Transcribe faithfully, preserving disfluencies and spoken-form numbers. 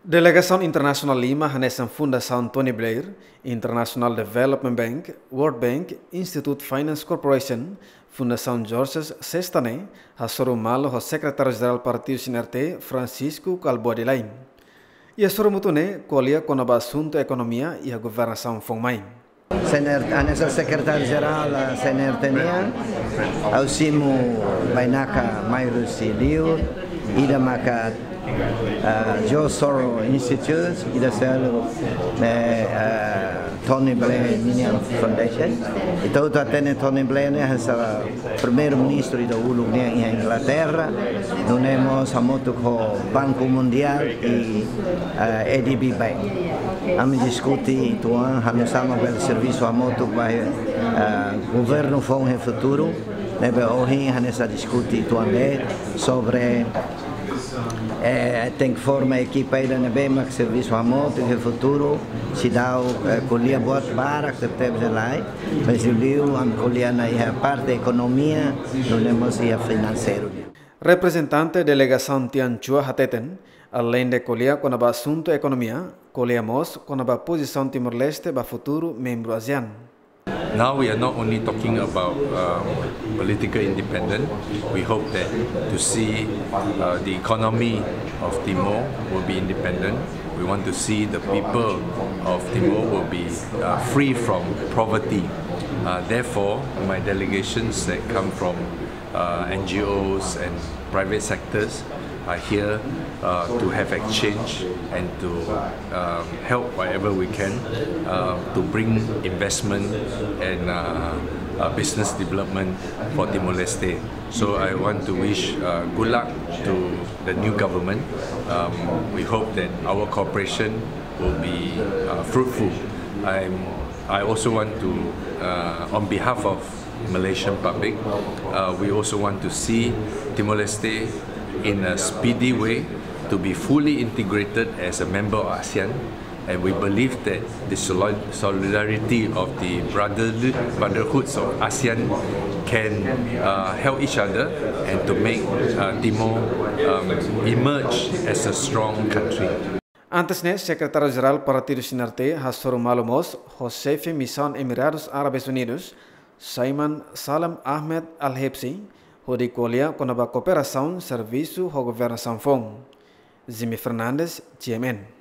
Delegasaun internasionál lima hanesan Fundasaun Tony Blair, International Development Bank, World Bank, Institute Finance Corporation, Fundasaun George Sesta ne'e hasoru malu ho Sekretáriu Jerál Partidu C N R T, Francisco Kalbuadi Lain. Iha soru mútuo ne'e ko'alia kona-ba asuntu ekonomia iha governasaun foun mai. C N R T, hanesan Sekretáriu Jerál, ah, C N R T nian, ha'u simu bainaka mai husi liur, ida maka, ah, George Soros Institute, ida seluk, eh, ah, Tony Blair nian Foundation. Entaun ita hatene Tony Blair ne'e hanesan Primeiru-Ministru ida uluk nian iha Inglaterra, nune'e mós hamutuk ho Banku Mundiál i, eh, A D B Bank. Ami diskute uitoan, halo sama bele servisu hamutuk ba, eh, governu foun iha futuru, ne'ebé ohin hanesan diskute uitoan de'it sobre, eh, tenke forma ekipa ida ne'ebé mak servisu hamutuk iha futuru, seidauk, eh, ko'alia buat barak tebes lai, mas liuliu ami ko'alia ona iha parte ekonomia, nune'e mós iha finanseiru nian. Reprezentante delegasaun Tian Chua hateten, aleinde ko'alia kona-ba asuntu ekonomia, ko'alia mós kona-ba pozisaun Timor-Leste ba futuru membru ASEAN. Now we are not only talking about, um, political independence. We hope that to see, uh, the economy of Timor will be independent. We want to see the people of Timor will be, uh, free from poverty. Uh, therefore, my delegations that come from, uh, N G Os and private sectors are here, uh, to have exchange and to, um, help wherever we can, uh, to bring investment and, uh, uh, business development for Timor-Leste. So I want to wish, uh, good luck to the new government. Um, we hope that our cooperation will be, uh, fruitful. I'm, I also want to, uh, on behalf of Malaysian public, uh, we also want to see Timor-Leste in a speedy way to be fully integrated as a member of ASEAN. And we believe that the soli-, solidarity of the brotherly, brotherhoods of ASEAN can, uh, help each other and to make, uh, Timor, um, emerge as a strong country. Antes ne'e, Sekretáriu Jerál Partidu C N R T hasoru malu mós ho Xefe Misaun Emiradus Árabes Unidus, Saiman Salem Ahmed Al Hibsi, hodi ko'alia kona-ba kooperasaun servisu ho governasaun foun. Jimmy Fernandes, G M N.